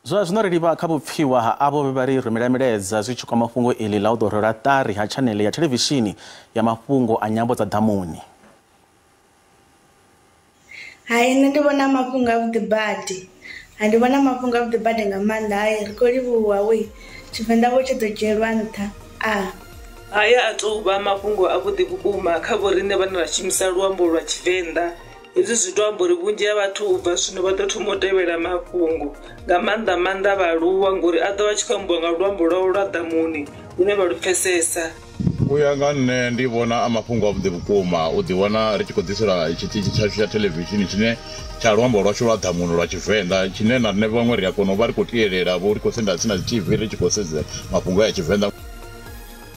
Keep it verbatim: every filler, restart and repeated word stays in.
Zwa zwino ri livha kha vhupfiwa ha avho vhe vha ri rumela milaedza zwi tshi kwama fhungo iḽi ḽa u ḓo rwelwa ṱari ha tshanele ya thelevishini ya mafhungo a nyambo dza ḓamuni. Hai, nṋe ndi vhona mafhungo avhuḓi badi, ndi vhona mafhungo avhuḓi badi nga maanḓa. Hai, ri khou livhuwa we Tshivenḓa vho tshi ḓo dzhielwa nṱha. A haya a tou vha mafhungo avhuḓi vhukuma kha vhoriṋe vhane ra shumisa luambo lwa Tshivenḓa. Hezwi zwi to amba uri vhunzhi ha vhathu u bva zwino vha ḓo thoma u tevhela mafhungo nga maanḓa maanḓa vhaaluwa, ngori a ḓo vha tshi khou ambiwa nga luambo lwavho lwa ḓamuni lune vha lu pfesesa. U ya nga nṋe ndi vhona a mafhungo avhuḓi vhukuma u ḓi wana ri tshi khou ḓiselwa tshiṱitshi tshashu tsha thelevishini tshine tsha luambo lwashu lwa ḓamuni lwa Tshivenḓa, tshine na riṋe vhaṅwe ri a kona u vha ri khou tielela vho ri khou senda tsini na dzi T V ri tshi khou sedza mafhungo ya Tshivenḓa.